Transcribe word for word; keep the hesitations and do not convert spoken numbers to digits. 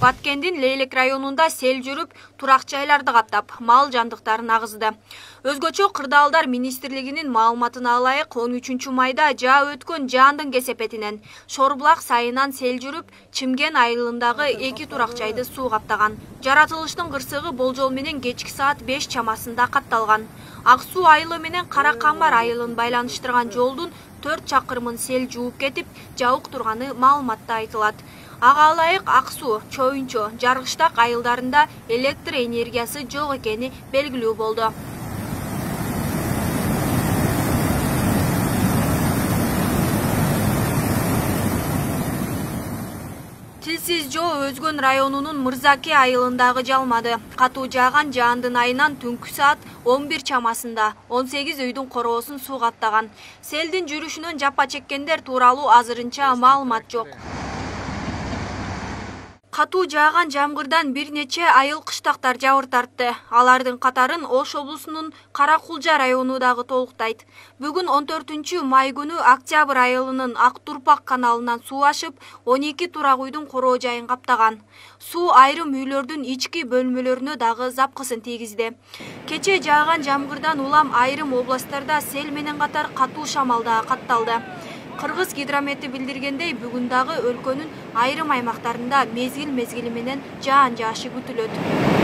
Баткендин Лейлек районунда сел жүрүп, турак жайларды каптап, мал жандыктарын агызды. Өзгөчө Кырдаалдар министрлигинин маалыматына ылайык, он үчүнчү майда жаа өткөн жаандын кесепетинен Шорбулак сайынан сел жүрүп, Чимген айылындагы эки турак жайды суу каптаган. Жаратылыштын кырсыгы болжол менен кечки саат беш чамасында катталган. Ак Суу айылы менен Кара Камбар айылын байланыштырган жолдун төрт чакырымын сел жууп кетип, жабык турганы маалыматта айтылат. Ага ылайык Ак Суу, Чоюнчо, Жаргыштак айылдарында электр энергиясы жок экени белгилүү болду. Тилсиз жоо Өзгөн районунун Мырзаке айылындагы жалмады. Катуу жааган жаандын айынан түнкү саат он бир чамасында он сегиз үйдүн короосун суу каптаган. Селдин жүрүшүнөн жапа чеккендер тууралуу азырынча маалымат жок. Катуу жааган жамгырдан бир нече айыл кыштактар жабыр тартты. Алардын катарын Ош облусунун Кара Кулжа району дагы толуктайт. Бүгүн он төртүнчү май күнү Октябрь айылынын Ак Турпак каналынан суу ашып, он эки турак үйдүн короо жайын каптаган. Суу айрым үйлөрдүн ички бөлмөлөрүнө дагы запкысын тийгизди. Кече жааган жамгырдан улам айрым областтарда сел менен катар катуу шамал дагы катталды. Кыргыз гидромети билдиргендей, бүгүн дагы өлкөнүн айрым аймактарында мезгил мезгили менен жаан жаашы күтүлөт.